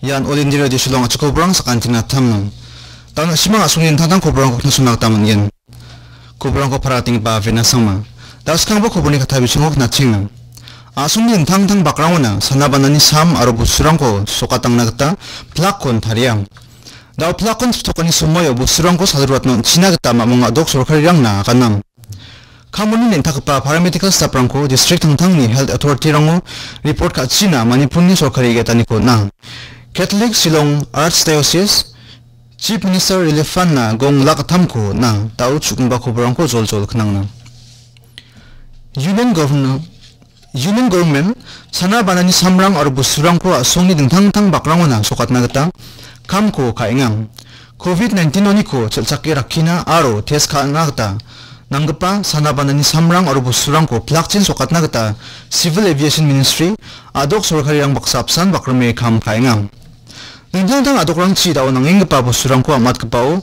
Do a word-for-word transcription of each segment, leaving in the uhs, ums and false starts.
Ian All India Radio Shillong a·chik koborang sakantina tamnang. Dana simang a·songni dingtang dingtang koborangko knasona gita man·gen. Koborangko paratenggipa Avena Sangma. Daskangba koborni katta bisingko knatchenga. A·songni dingtang dingtang bakrangona sana banani sam aro bosturangko sokatangna gita plakkon taria. Dao plakkon chiptokani somoio bosturangko salruatna on·china gita mamung a·dok sorkarirangna aganna. Kamoni neng·takgipa paramedical staff-rangko district tangtangni health authority-rango report ka·china Manipurni sorkari ge·etaniko on·a. Catholic Shillong Archdiocese Chief Minister Relief Fund-na gong lak gittamko on·a. Dao chu·gipa koborangko joljol knangna. Union Governor Union Government sana banani samrang aro bosturangko a·songni dingtang dingtang bakrangona sokatna gita kamko ka·enga. Covid nineteen oniko chel·chake rakkina aro test ka·na gita nanggipa sana banani samrang aro bosturangko plakchin sokatna gita Civil Aviation Ministry a·dok sorkarirang baksa apsan bakrime kam ka·enga. Dingtang dingtang a·dokrangchi dao nangenggipa bosturangko am·atgipao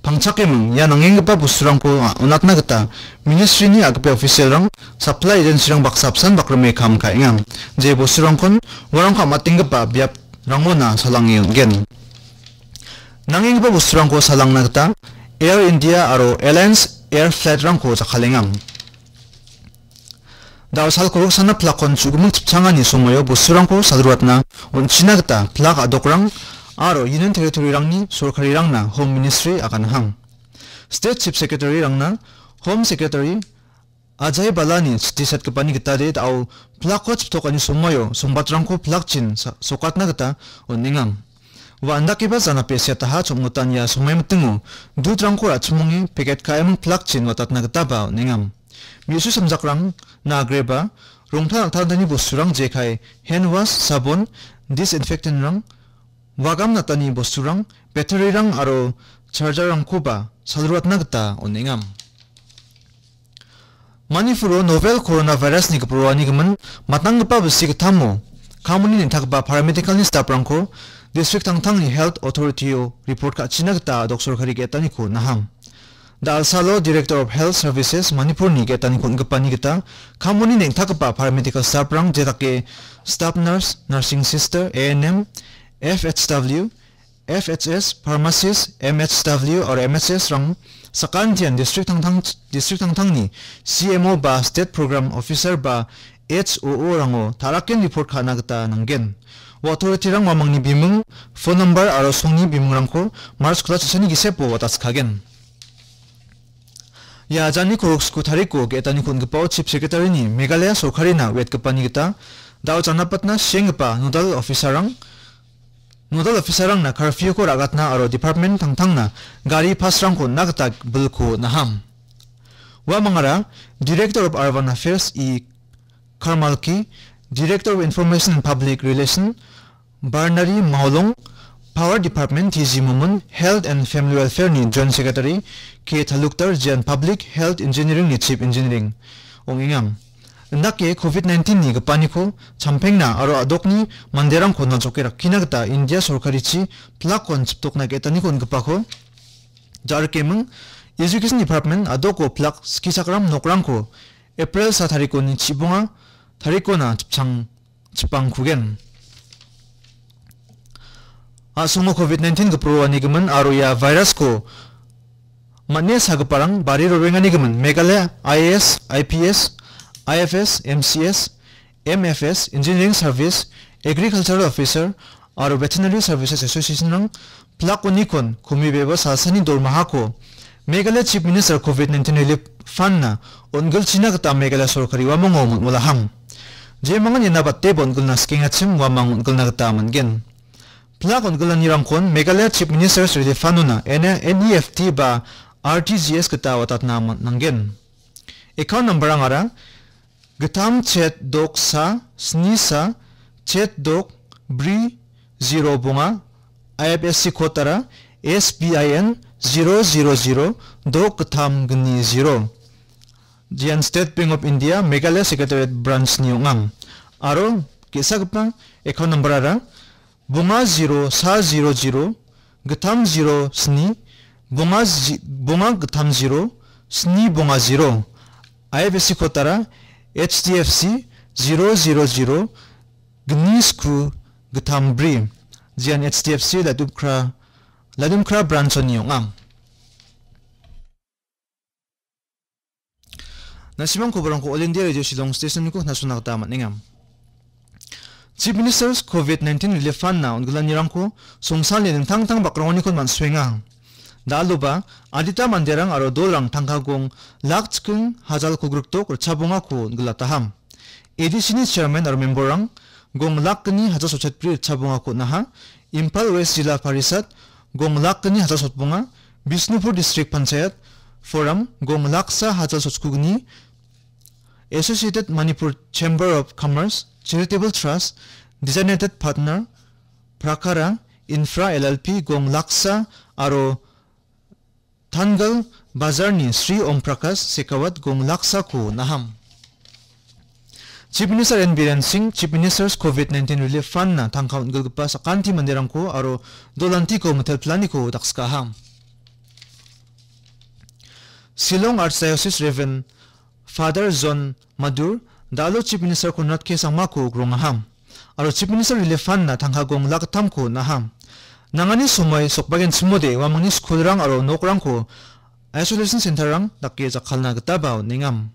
pangchakeming ia nangenggipa bosturangko a-, on·atna gita ministry-ni a·gipa official-rang, supply agency-rang baksa apsan bakrime kam ka·enga. Je bosturangkon uarangko am·atenggipa biaprangona salange on·gen. Nangenggipa bosturangko salangna gita Air India aro Alliance Air Flight-rangko jakkalenga. Dao salko roksana plakkon chu·giming chipchangani somoio bosturangko salruatna on·china gita plak a·dokrang aro Union Territory-rangni sorkarirangna Home Ministry aganahang. State Chief Secretary-rangna Home Secretary Ajay Bhallani chiti setgipani gitade dao plakko chiptokani somoio songbatrangko plakchin sa-, sokatna gita on·enga. Ua indakeba janape siataha chongmotan ia somai mitingo dutrangko ra·chimonge peket ka·eming plakchin watatna gitaba on·enga. Me·su samjakrang, nagreba, rongtal nangtangtangni bosturang jekai, hand wash, sabon, disinfectant-rang, wagam natani bosturang, battery-rang aro charger-rangkoba salruatna gita on·enga. Manipuro novel coronavirus-ni giporoanigimin matnanggipa bilsi gittamo kamoni neng·takgipa paramedical-ni staff-rangko district tangtangni health authority-o report ka·china gita a·dok sorkari ge·etaniko naham. Da·alsalo Director of Health Services Manipur-ni ge·etani kon·gipani gita kamoni neng·takgipa paramedical staff-rang jedake staff nurse, nursing sister, A N M, F H W, F H S, pharmacist, M H W aro M S S-rang sakantian district tangtang, district tangtangni C M O ba state program officer ba H O O-rango ta·raken report ka·na gita nanggen. Ua authority-rang uamangni biming, phone number aro songni bimingrangko March kula chisani gisepo wataskagen. Ia ajani koroksko tariko ge·etani kon·gipao Chief Secretary-ni Meghalaya sorkarina uiatgipani gita dao janapatna sienggipa nodal officer-rang, nodal officer-rangna curfew-ko ra·gatna aro department tangtangna gari pass-rangko on·na gita bilko on·aham. Uamangara Director of Urban Affairs E Karmalki, Director of Information and Public Relation Barnari Maulong, Power Department T G Momin, Health and Family Welfare-ni Joint Secretary K Talukdar, Jian Public Health Engineering-ni Chief Engineering ong·enga. Indake covid nineteen-ni gipaniko champengna aro a·dokni manderangko naljoke rakkina gita India sorkarichi plakkon chiptokna ge·etaniko on·gipako ja·rikeming Education Department a·doko plak skichakram nokrangko April sa tarikoni chibonga tarikona chipchang-, chipangkugen. A·songo covid nineteen giporoanigimin aro ia virus-ko man·e sagiparang bari roenganigimin Meghalaya I A S, I P S, I F S, M C S, M F S, Engineering Service, Agricultural Officer aro Veterinary Services Association-rang plak onikon komibeba salsani dormahako Meghalaya Chief Minister covid nineteen Relief Fund-na on·gilchina gita Meghalaya sorkari uamango mol·molahang. Jemangan iana bateba on·gilna skengachim uamang on·gilna gita man·gen. Plak on·gilanirangkon Meghalaya Chief Minister's Relief Fund-ona N E F T ba R T G S gita watatna man-, nanggen. Account number-rangara gittam chet dok sa sni sa chet dok bri zero bonga, I F S C code-ara S B I N zero zero zero dok gittam gni zero. Jian State Bank of India Meghalaya Secretariat Branch-ni ong·a. Aro ge·sagipa account number-ara bonga zero sa zero zero gittam zero sni, bonga zi-, bonga gittam zero, sni bonga zero. I F S C code-ara H D F C zero zero zero gni sku gittam bri. Jian H D F C Ladumkra, Ladumkra branch-oni ong·a. Nasimang koborangko All India Radio Shillong Station-niko knasona gita man·enga. Chief Minister's covid nineteen Relief Fund-na on·gilanirangko songsalni dingtang dingtang bakraoniko man·suenga. Dal·oba, adita manderang aro dolrang tangka gong lak chiking hajal kolgrikdok ritchabongako on·gilataham. A D C-ni chairman aro memberrang gong lak gni hajal sotchetbri ritchabongako on·aha. Imphal West Jila Parisad gong lak gni hajal sotbonga, Bishnupur District Panchayat Forum gong laksa hajal sotskugni, Associated Manipur Chamber of Commerce Charitable Trust, Designated Partner Prakara Infra L L P gong laksa aro Tangal Bazarni Sri Om Prakash Shekhawat gong laksako on·aham. Chief Minister N Biren Singh, Chief Minister's covid nineteen Relief Fund-na tangka on·gilgipa sakanti manderangko aro dolantiko mitelpilaniko dakskaham. Shillong Archdiocese Reverend Father John Madur, Dalo Chief Minister Conrad K Sangmako grongaham. Aro Chief Minister Relief Fund-na tangka gong lak gittamko on·aha. Nangani somoi sokbagenchimode uamangni skulrang aro nokrangko isolation center-rang dake jakkalna gitaba on·engam.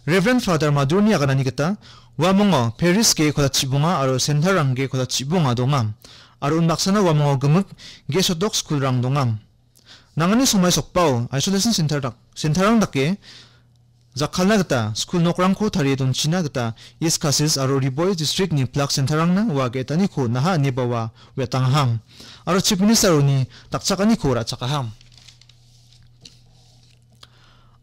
Reverend Father Madurni aganani gita uamongo parish ge kolachibonga aro center-rang ge kolachibonga donga. Aro unbaksana uamongo gimik ge sotdok skulrang donga. Nangani somoi sokbao isolation center dak-, center-rang dake jakkalna gita skul nokrangko tarie donchina gita East Khasi Hills aro Ri Bhoi district-ni plak center-rangna ua ge·etaniko on·aha ineba ua uiatangaham. Aro Chief Minister-oni dakchakaniko ra·chakaham.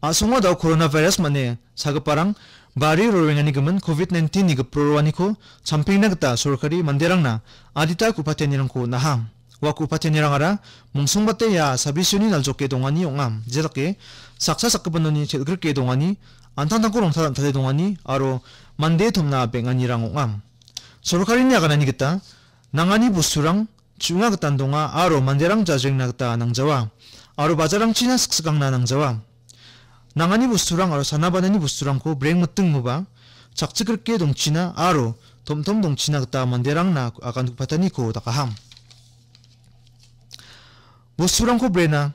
A·songo dao coronavirus mane sagiparang bari roenganigimin covid nineteen-ni gipro roaniko champengna gita sorkari manderangna adita ku·patenirangko on·aha. Ua ku·patenirangara mongsongbate ia sabisioni naljoke dongani ong·a. Jedake saksa sakgipinoni chel·grike dongani, an·tangtangko rongtal an·tale dongani aro mande tomna beng·anirang ong·a. Sorkarini aganani gita nangani bosturang chu·nga gitan donga aro manderang jajrengna gita nangjawa aro bajarangchina siksikangna nangjawa. Nangani bosturang aro sana banani bosturangko breng mitingoba chakchikrike dongchina aro tom tom dongchina gita manderangna agan ku·pataniko dakaham. Bosturangko brena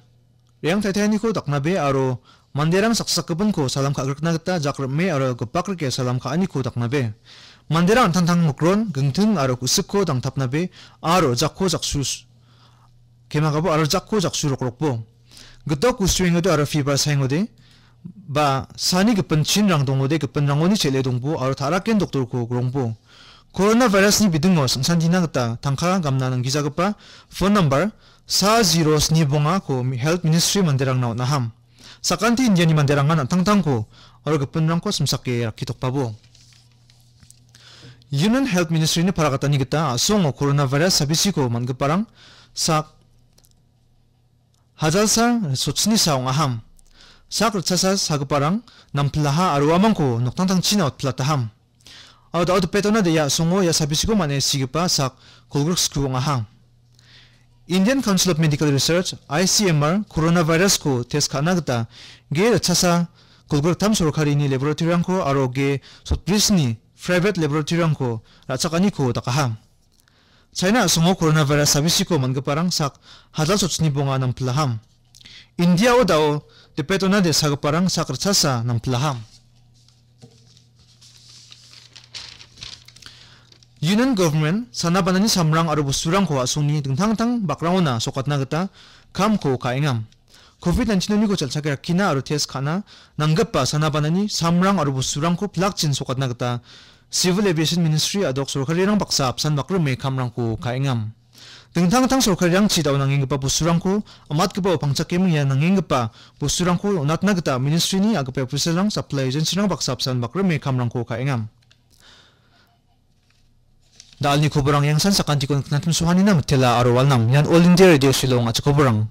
re·angtaitaniko daknabe aro manderang saksakgipinko salam ka·grikna gita jak rim·e aro gipakrike salam ka·aniko daknabe. Manderang an·tangtang mikron, gingting aro ku·sikko dangtapnabe aro jakko jaksu s-, kemagabo aro jakko jaksu rokrokbo. Gitok gusuengode aro fiber saengode, ba sani gipin chinrang dongode gipinrangoni chel·e dongbo aro ta·raken doktorko grongbo. Coronavirus-ni bidingo singsantina gita tangka gamna nanggijagipa phone number sa zero sni bongako Health Ministry manderangna on·aham. Sakanti Indiani manderangan an·tangtangko aro gipinrangko simsake rakkitokbabo. Union Health Ministry-ni paragatani gita a·songo coronavirus sabisiko man·giparang sak hajalsa sotchnisa ong·aham. Sak ritchasa sagiparang nampilaha aro uamangko noktangtangchina otpilataham. Aro da·o dipetona de·a a·songo ia sabisiko man·e sigipa sak kolgrik sku ong·aha. Indian Council of Medical Research, I C M R, coronavirus-ko test ka·na gita ge ritchasa kolgriktam sorkarini laboratory-rangko aro ge sotbrisni private laboratory-rangko ra·chakaniko dakaha. China a·songo coronavirus sabisiko man·giparang sak hajal sotchni bonga nampilaham. India-o da·o dipetona de·sagiparang sak ritchasa nampilaham. Union Government sana banani samrang aro bosturangko a·songni dingtang dingtang bakrangona sokatna gita kamko ka·engam. Covid nineteen-oniko chel·chake rakkina aro test ka·na nanggipa sana banani samrang aro bosturangko pilakchin sokatna gita Civil Aviation Ministry a·dok sorkarirang baksa apsan bakrime kamrangko ka·engam. Dingtang dingtang sorkarirangchi da·o nangenggipa bosturangko amatgipao pangchakeming ia nangenggipa bosturangko on·atna gita ministry-ni a·gipa official-rang, supply agency-rang baksa apsan bakrime kamrangko ka·engam. Da·alni koborang iangsan sakantiko nikna timsohanina mitela aro walnam. Ian All India Radio Shillong a·chik koborang.